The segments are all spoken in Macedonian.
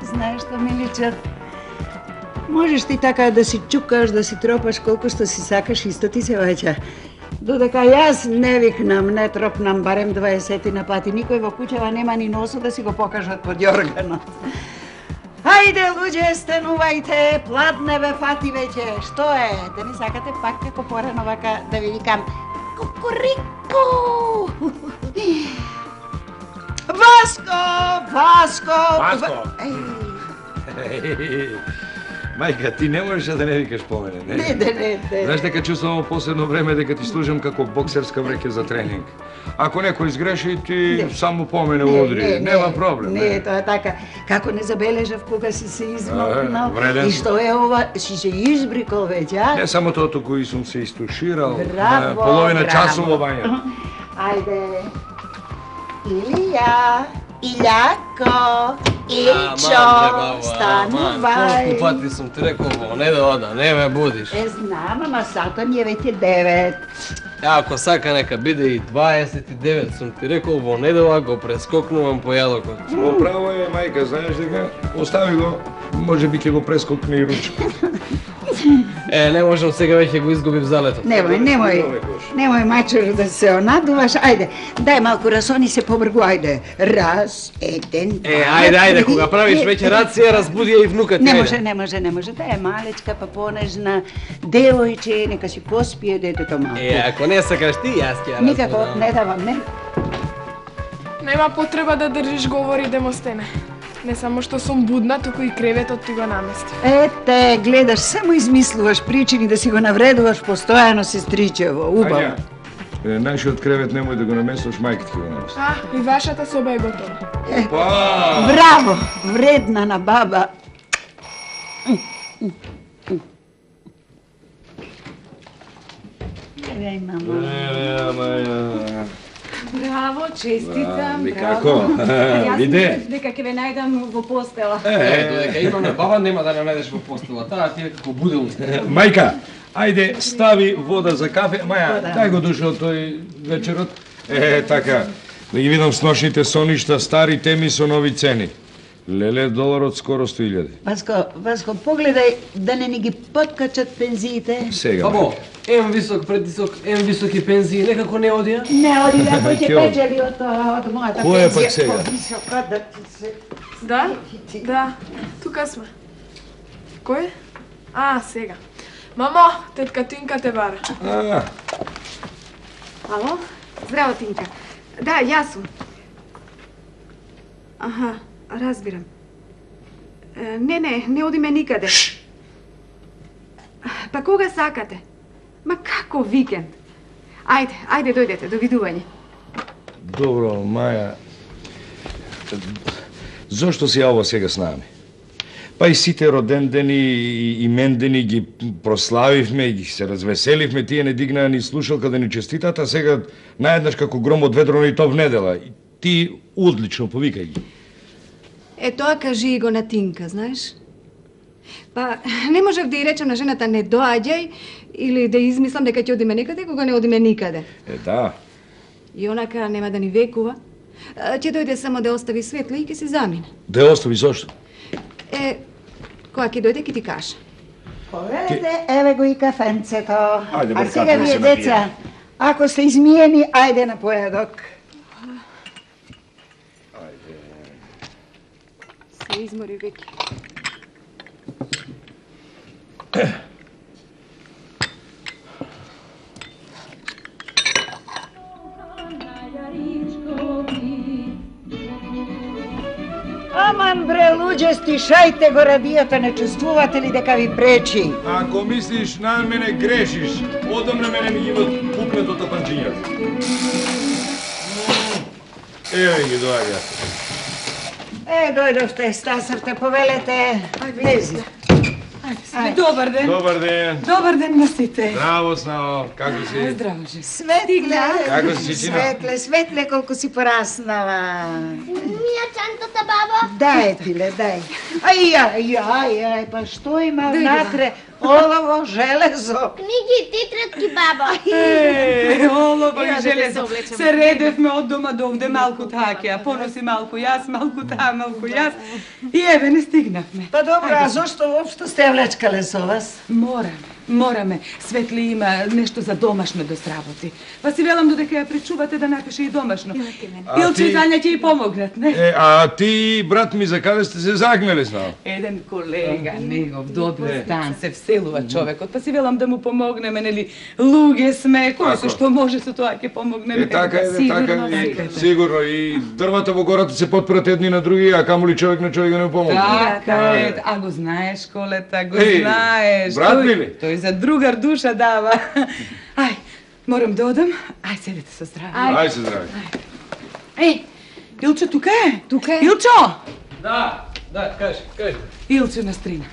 Знаеш што, миличок? Можеш ти така да си чукаш, да си тропаш колку што си сакаш, исто ти се ваќа. Додека јас не викнам, не тропнам барем 20 на пати, никој во куќава нема ни носо да си го покажат под јорганот. Хајде, луѓе, станувајте, пладне бе фати веќе. Што е? Да не сакате пак како порано вака да ви викам кукурику? Васко! Мајка, ти не можеш да не викаш по мене, не? Не. Знаеш дека чувствувам последно време дека ти служам како боксерска вреќа за тренинг. Ако некој изгреши, ти само по мене удри. Нема проблем. Не, тоа е така. Како не забележав кога си се измокнал. И што е ова? Си се избрикал веќе, а? Не само тоа, туку и сум се истуширал. Браво, половина часом во бања. Ајде. Илија, Илјако, Илчо, станувај. Колку пати сум ти рекол во не да ода, не ме будиш. Знам, ама сато ни е веќе 9. Ако сака нека биде и 29, сум ти рекол во недела го прескокнувам по јадокот. Право е, мајка, знаеш дека остави го, може би ќе го прескокне и ручка. Не можам сега веќе го изгубив залетот. Немој мачор да се онадуваш. Ајде, дај малку расони се побргу, ајде. Раз, еден, два. Ајде, кога правиш веќе рација, разбуди ја и внуката. Не може. Да е малечка, па понежна, девојче, нека си поспие детето малку. Ако не сакаш ти, јас ќе ја разбудам. Никако, не давам, не. Нема потреба да држиш говори, Демостене. Не само што сум будна, туку и креветот ти го наместив. Ете, гледаш, само измислуваш причини да си го навредуваш постојано, сестричево, убаво. Нашиот кревет немој да го намесваш, мајка ти го намести. И вашата соба е готова. Браво, вредна на баба. Еве, мама. Браво, честитам, Никако, виде. Дека ќе ве најдам во постела. Додека имаме баба, нема да не најдеш во постела. Таа ти е како будилник. Мајка, ајде, стави вода за кафе. Маја, дај го дошол тој вечерот. Така, да ги видам сношните соништа, стари теми со нови цени. Леле, доларот скоро 100.000. Васко, погледај да не ни ги подкачат пензиите. Сега. Бабо, ем висок, предвисок, ем високи пензии, некако не одија? Не одија, кој ќе печели од мојата пензија. Кој е пак сега? Висока да ти се... Да, тука сме. Кој? Сега. Мамо, тетка Тинка те бара. Ало? Здраво, Тинка. Да, јас сум. Разбирам. Не одиме никаде. Па кога сакате? Ма како викенд? Ајде, дојдете, довидување. Добро, Маја. Зошто си ја ова сега с нами? Па и сите роден дени и имендени ги прославивме, ги се развеселивме, тие не дигнаа ни слушалка да ни честитат, а сега наеднаш како гром од ведро ни то внедела. Ти одлично, повикај ги. Тоа кажи и го на Тинка, знаеш? Па, не можев да ја речем на жената не доаѓај или да измислам дека ќе одиме некаде кога не одиме никаде. Да. И онака нема да ни векува. Ќе дојде само да остави светло и ќе се замине. Да ја остави зошто? Кога ќе дојде ќе ти каже. Поведете, еве го и кафенцето. Ајде, А сега вие, деца, ако сте измиени, ајде на поедок. Се измори веќе. Аман бре, луѓе, стишајте го радиото, не чувствувате ли дека ви пречи? Ако мислиш на мене, грешиш. Одамна мене ми имат пукнато тапанчињата. Еве ги доаѓа. Дојдовте, стасавте, повелете. Влези. Добар ден. Добар ден. Добар ден на сите. Здраво, Снао. Како си? Здраво же. Светле, Како си, Чичина? Светле, колку си пораснала. Мија чантата, баба? Дај, Тиле, дај. Ај, па што има внатре? олово, железо. Книги и тетрадки, баба. Олово и железо. Се редевме од дома до овде малку таке, а поноси малку јас, малку таа, малку јас. И еве не стигнавме. Па добро, а зошто воопшто сте влечкале со вас? Мораме. Светли има нешто за домашно да сработи. Па си велам додека ја пречувате да напише и домашно. Илче и Тања ќе и помогнат, не? А ти, брат ми, за каде сте се загнали с нас? Еден колега, негов добар стан, се вселува човекот, па си велам да му помогнеме, нели, луѓе сме, кој се што може со тоа ќе помогнеме. Така е, сигурно, и дрвата во гората се потпират едни на други, а камоли човек на човек да не помогне. Така е, а го знаеш, Колета, го знаеш. Брат ми ли? Тој за другар душа дава. Ај, морам да одам, ај седете со здраве. Ај се здрави. Илче тука е? Тука е. Илчо! Да, кажи. Илче на стрина.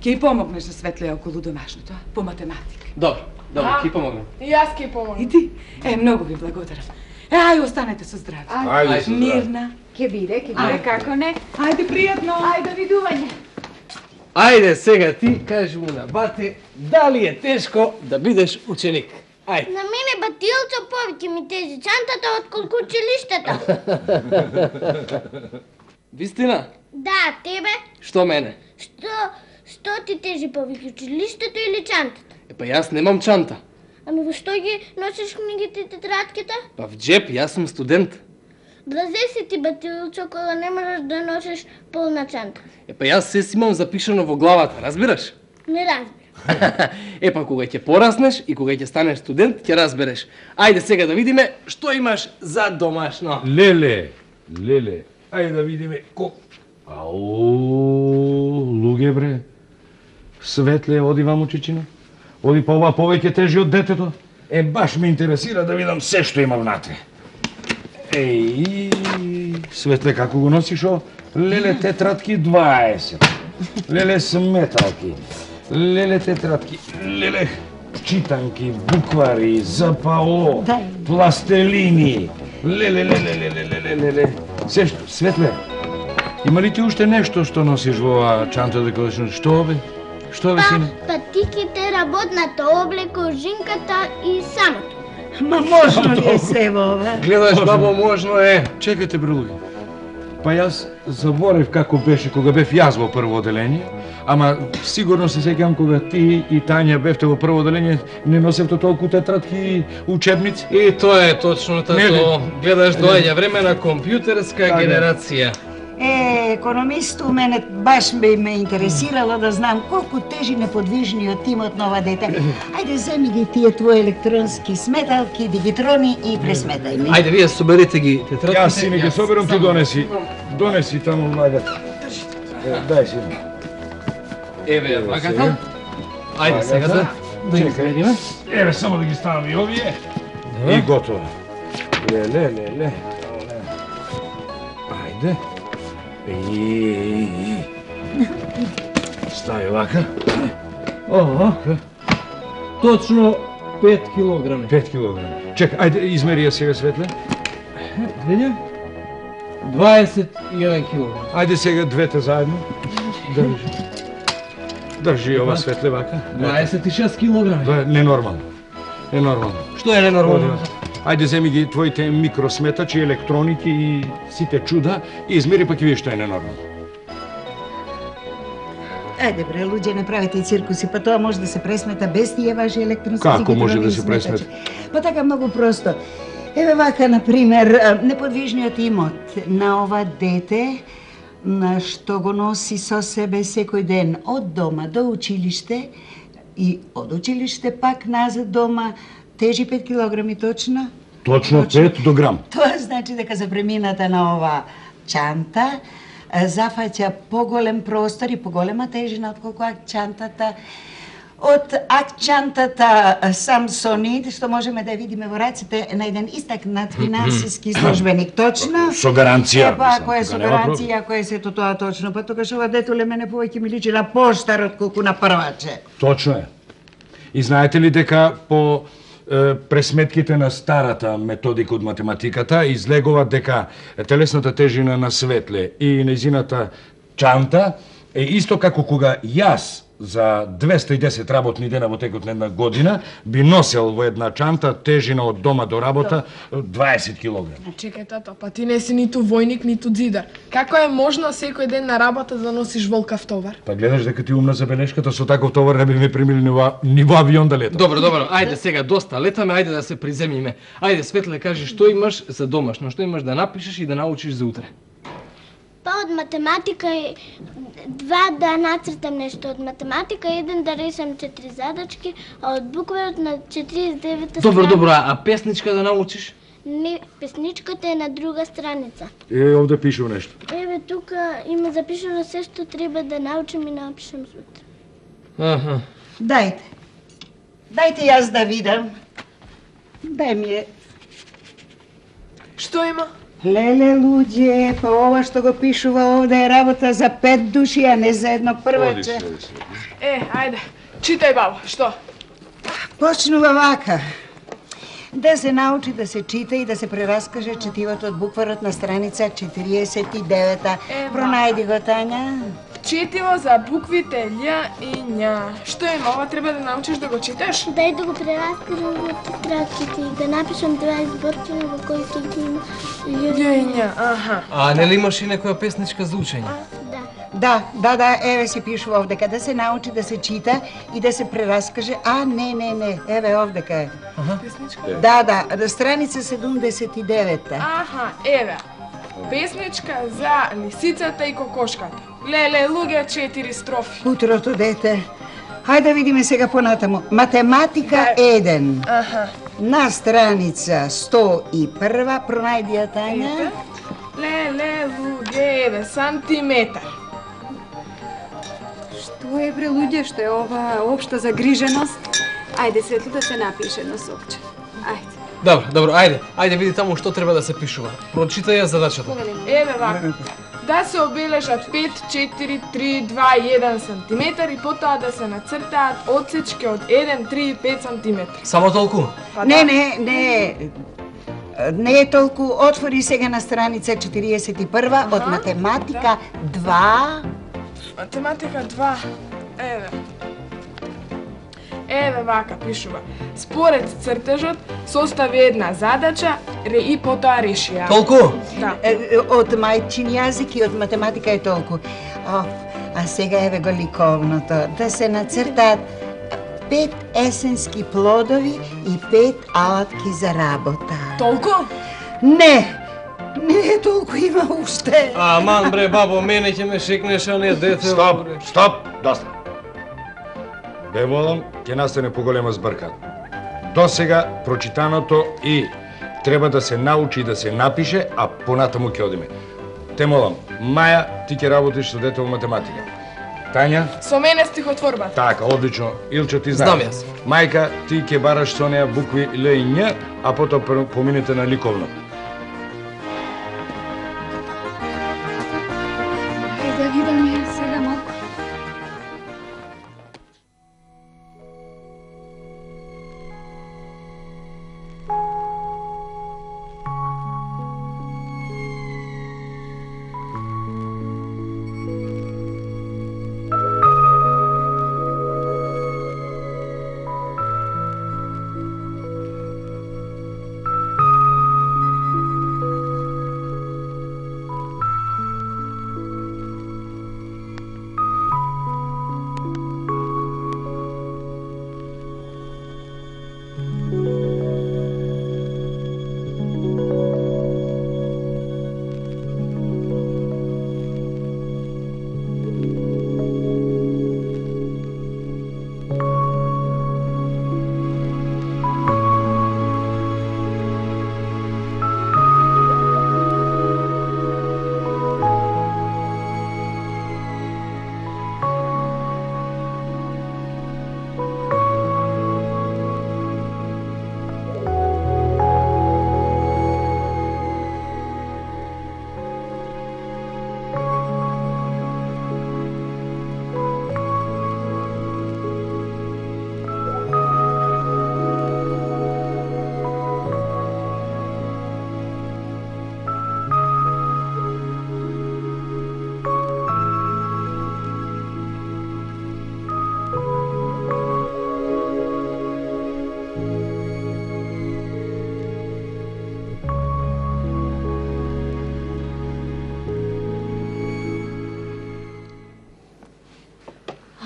Ќе и помогнеш на Светлеја околу домашното, по математика. Добро, ќе помогнам. И јас ќе помогнам. И ти? Многу ви благодарам. Ај, останете со здраве. Ајде се здрави. Мирна. Ке биде, како не. Ајде, пријатно. Ајде, видување. Ајде сега ти кажи му на бате дали е тешко да бидеш ученик. Ајде. На мене батилчо повеќе ми тежи чантата отколку училиштето. Вистина? Да, тебе? Што мене? Што ти тежи повеќе, училиштето или чантата? Па јас немам чанта. Ами во што ги носиш книгите и тетрадките? Па в джеп, јас сум студент. Блазе си ти, батилчо, кога не можеш да носиш полна чанта. Па јас се имам запишано во главата, разбираш? Не разбирам. Па кога ќе пораснеш и кога ќе станеш студент, ќе разбереш. Ајде сега да видиме што имаш за домашно. Леле, ајде да видиме луѓе бре. Светле, оди ваму чичина. Оди па ова повеќе тежи од детето. Баш ме интересира да видам се што има внатре. Светле, како го носиш о? Леле, тетрадки 20. Леле, сметалки. Леле, тетрадки. Леле, читанки, буквари, ЗПО, пластелини. Леле. Се што, Светле, има ли ти уште нешто што носиш во оваа чанта да кажеш? Што бе? Што бе, сине? Патиките, работната облеко, жинката и самото. Ма можно ли е се во ова? Гледаш, бабо, можно е. Чекайте, брелуги. Па јас заборев како беше кога бев јас во прво оделение, ама сигурно се сеќавам кога ти и Тања бевте во прво оделение, не носевте толку тетрадки и учебници. И тоа е точно Не, тато. Гледаш, доаѓа време на компјутерска генерација. Економисту, мене баш ме интересирало да знам колку тежи неподвижниот тимот на ова дете. Ајде, земи ги тие твои електронски сметалки, дигитрони и пресметај ми. Ајде, вие соберете ги тетрадките. Јас сине ги соберам, ти донеси. Донеси таму влагата. Дај сине. Еве влагата. Ајде сега да ги средиме. Еве, само да ги ставам и овие. И готово. Ле. Ајде. Стави вака. Точно 5 килограми. 5 килограми. Чекај, ајде, измери ја сега, Светле. Види? 21 килограми. Ајде сега двете заедно. Држи ова, Светле, вака. 26 килограми. Ненормално. Што е ненормално? Ајде, земи ги твоите микросметачи, електроники и сите чуда и измери, па ќе видиш што е ненормално. Ајде бре, луѓе, не правите циркуси, па тоа може да се пресмета без тие ваши електронски Како може дигитрони да и се пресмета? сметачи. Па така многу просто. Еве вака, например, неподвижниот имот на ова дете, на што го носи со себе секој ден од дома до училиште и од училиште пак назад дома, тежи 5 килограми точно? Точно 5 до грам. Тоа значи дека за премината на ова чанта зафаќа поголем простор и поголема тежина отколку акчантата. Од акчантата Самсонит, што можеме да видиме во раците на еден истакнат финансиски службеник, точно? Со гаранција. Па, ако е со гаранција, ако е сето тоа точно, па тогаш ова детуле мене повеќе ми личи на поштар отколку на прваче. Точно е. И знаете ли дека по пресметките на старата методика од математиката излегува дека телесната тежина на Светле и нејзината чанта е исто како кога јас за 210 работни дена во текот на една година би носел во една чанта тежина од дома до работа 20 килограми. Чекај, тато, па ти не си ниту војник, ниту дзидар. Како е можно секој ден на работа да носиш волкав товар? Па гледаш дека ти умна забелешката, со таков товар не би ме примили ни во авион да летам. Добро, ајде сега доста летаме, ајде да се приземиме. Ајде Светле, кажи што имаш за домашно, што имаш да напишеш и да научиш за утре. Па од математика 2 да нацртам нешто од математика, 1 да решам 4 задачки, а од букварот на 49-та Добро, а песничка да научиш? Не, песничката е на друга страница. Овде пишува нешто. Еве тука има запишано се што треба да научам и напишам сутре. Аха. Дајте јас да видам. Дај ми е. Што има? Леле, луѓе, па ова што го пишува овде е работа за 5 души, а не за едно прваче. Ајде, читај, бабо, што? Почнува вака. Да се научи да се чита и да се прераскаже четивото од букварот на страница 49-та. Пронајди го, Тања. Четиво за буквите Л и Њ. Што има? Ова треба да научиш да го читаш? Дај да го прераскажам во тетрадките и да напишам 2 изборчина во кои ги има Л и Њ, аха. А не ли имаш и некоја песничка за учење? Да. Да, еве си пишува овдека, да се научи да се чита и да се прераскаже. Не, еве овдека е. Песничка? Да, страница 79-та. Аха, еве. Песничка за лисицата и кокошката. Леле, луѓе, 4 строфи. Утрото дете. Хајде да видиме сега понатаму. Математика 1. Аха. На страница 101, пронајди ја, Тања. Леле, луѓе, еве, сантиметар. Што е, бре, луѓе, што е ова општа загриженост? Ајде, Светло, да се напише едно сопче. Ајде. Добро, ајде види таму што треба да се пишува. Прочитај ја задачата. Еве вака. Да се обележат 5, 4, 3, 2, 1 сантиметар и потоа да се нацртаат одсечки од 1, 3 и 5 сантиметри. Само толку? Не е толку. Отвори сега на страница 41 од математика 2. Математика 2. Еве вака пишува. Според цртежот состави една задача и потоа реши ја. Толку? Да. Од мајчин јазик и од математика е толку. А сега еве го ликовното. Да се нацртаат 5 есенски плодови и 5 алатки за работа. Толку? Не е толку, има уште. Аман бре, бабо, мене ќе ме шекнеш, а не дете. Стоп, доста. Бе молам, ќе настане поголема збрка. До сега прочитаното и треба да се научи и да се напише, а понатаму ќе одиме. Те молам, Маја, ти ќе работиш со дете во математика. Тања? Со мене стихотворба. Така, одлично. Илчо, ти знаеш. Знам јас. Мајка, ти ќе бараш со неа букви Л и Њ, а потоа поминете на ликовно. Ајде да видиме сега малку.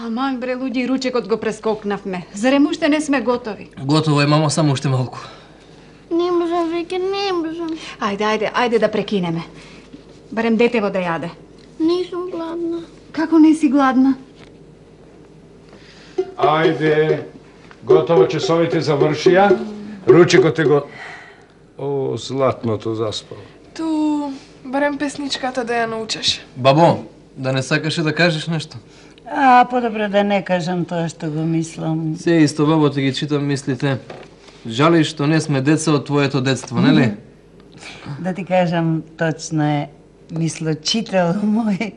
Аман бре луѓе и ручекот го прескокнавме. Зарем уште не сме готови? Готово е, мамо, само уште малку. Не можам веќе, не можам. Ајде да прекинеме. Барем детево да јаде. Не сум гладна. Како не си гладна? Ајде, готово, часовите завршија. Ручекот е го... О, златното заспало. Ту, барем песничката да ја научиш. Бабо, да не сакаше да кажеш нешто? Подобро да не кажам тоа што го мислам. Се исто, бабо, ти ги читам мислите. Жали што не сме деца од твоето детство, нели? Да ти кажам, точно е мислочител мој.